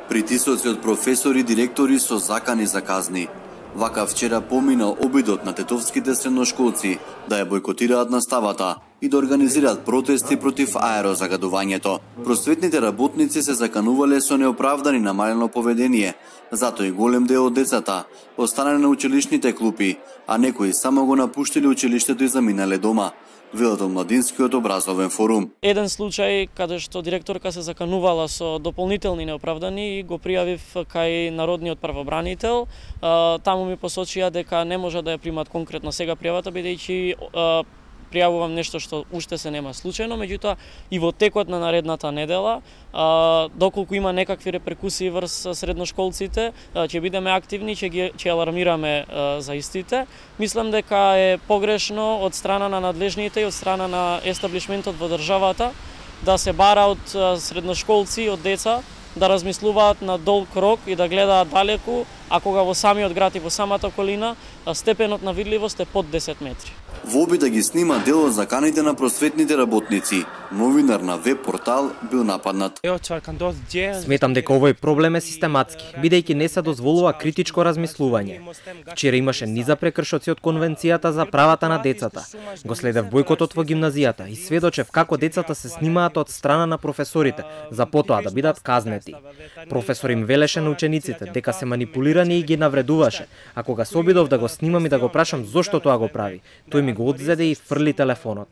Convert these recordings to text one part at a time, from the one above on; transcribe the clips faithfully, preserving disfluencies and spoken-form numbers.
Притисоци од професори и директори со закани за казни. Вака вчера поминал обидот на тетовските средношколци да ја бойкотираат наставата и да организираат протести против аерозагадувањето. Просветните работници се заканувале со неоправдани намалено поведение, затоа и голем дел од децата останале на училишните клупи, а некои само го напуштиле училиштето и заминале дома, велат од Младинскиот образовен форум. Еден случај каде што директорка се заканувала со дополнителни неоправдани и го пријавив кај народниот правобранител. Таму ми посочија дека не може да ја примат конкретно сега пријавата, бидејќи пријавувам нешто што уште се нема случајно, меѓутоа и во текот на наредната недела, доколку има некакви реперкусии врз средношколците, ќе бидеме активни, ќе ги ќе алармираме за истите. Мислам дека е погрешно од страна на надлежните и од страна на естаблишментот во државата да се бара од средношколци, од деца да размислуваат на долг рок и да гледаат далеку, а кога во самиот град и во самата околина степенот на видливост е под десет метри. Во обид да ги снима дел од заканите на просветните работници, новинар на веб портал бил нападнат. Сметам дека овој проблем е систематски, бидејќи не се дозволува критичко размислување. Вчера имаше низа прекршоци од Конвенцијата за правата на децата. Го следев бојкотот во гимназијата и сведочев како децата се снимаат од страна на професорите, за потоа да бидат казнети. Професор им велеше на учениците дека се манипулирани и ги навредуваше, а кога се обидов да го снимам и да го прашам зошто тоа го прави, тој ми го одзеде и фрли телефонот.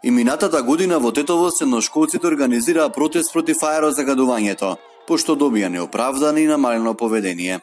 И минатата година во Тетово средношколците организираа протест против аерозагадувањето, пошто добија неоправдано и намалено поведение.